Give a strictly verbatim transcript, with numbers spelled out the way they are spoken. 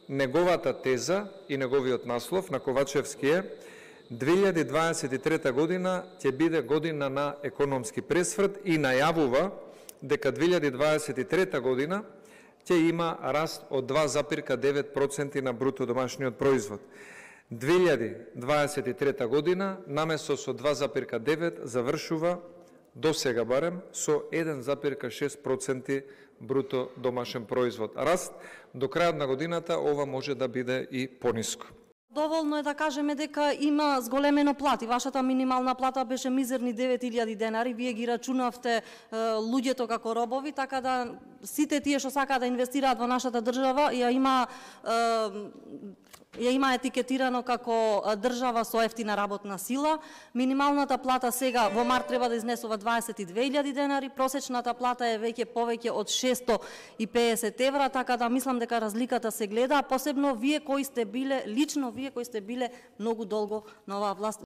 неговата теза и неговиот наслов на Ковачевски е две илјади дваесет и трета година ќе биде година на економски пресврт и најавува дека две илјади дваесет и трета година ќе има раст од два запирка девет проценти на бруто домашниот производ. две илјади дваесет и трета година наместо со два запирка девет завршува до сега барем со еден запирка шест проценти бруто домашен производ. Раст до крајот на годината ова може да биде и пониско. Доволно е да кажеме дека има зголемено плати. Вашата минимална плата беше мизерни девет илјади денари. Вие ги рачунавте е, луѓето како робови, така да сите тие што сакаат да инвестираат во нашата држава ја има е, ја има етикетирано како држава со ефтина работна сила. Минималната плата сега во март треба да изнесува дваесет и две илјади денари, просечната плата е веќе повеќе од шесто и педесет евра, така да мислам дека разликата се гледа, посебно вие кои сте биле, лично вие кои сте биле многу долго на оваа власт.